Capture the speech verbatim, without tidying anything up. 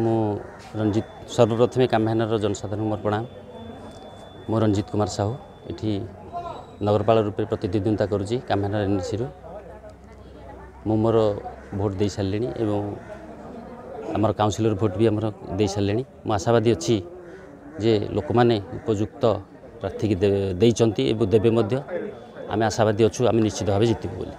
ମୁଁ ରଞ୍ଜିତ। ସର୍ବପ୍ରଥମେ କାମ୍ୟାନର ଜନସାଧାରଣଙ୍କୁ ମୋର ପ୍ରଣାମ। ମୁଁ ରଞ୍ଜିତ କୁମାର ସାହୁ, ଏଠି ନଗରପାଳ ରୂପେ ପ୍ରତିଦ୍ୱନ୍ଦିତା କରୁଛି କାମ୍ୟାନର ଏନ୍ଏସିରୁ। ମୁଁ ମୋର ଭୋଟ ଦେଇସାରିଲିଣି ଏବଂ ଆମର କାଉନସିଲର ଭୋଟ ବି ଆମର ଦେଇସାରିଲେଣି। ମୁଁ ଆଶାବାଦୀ ଅଛି ଯେ ଲୋକମାନେ ଉପଯୁକ୍ତ ପ୍ରାର୍ଥୀକି ଦେଇଛନ୍ତି ଏବଂ ଦେବେ ମଧ୍ୟ। ଆମେ ଆଶାବାଦୀ ଅଛୁ, ଆମେ ନିଶ୍ଚିତ ଭାବେ ଜିତିବୁ ବୋଲି।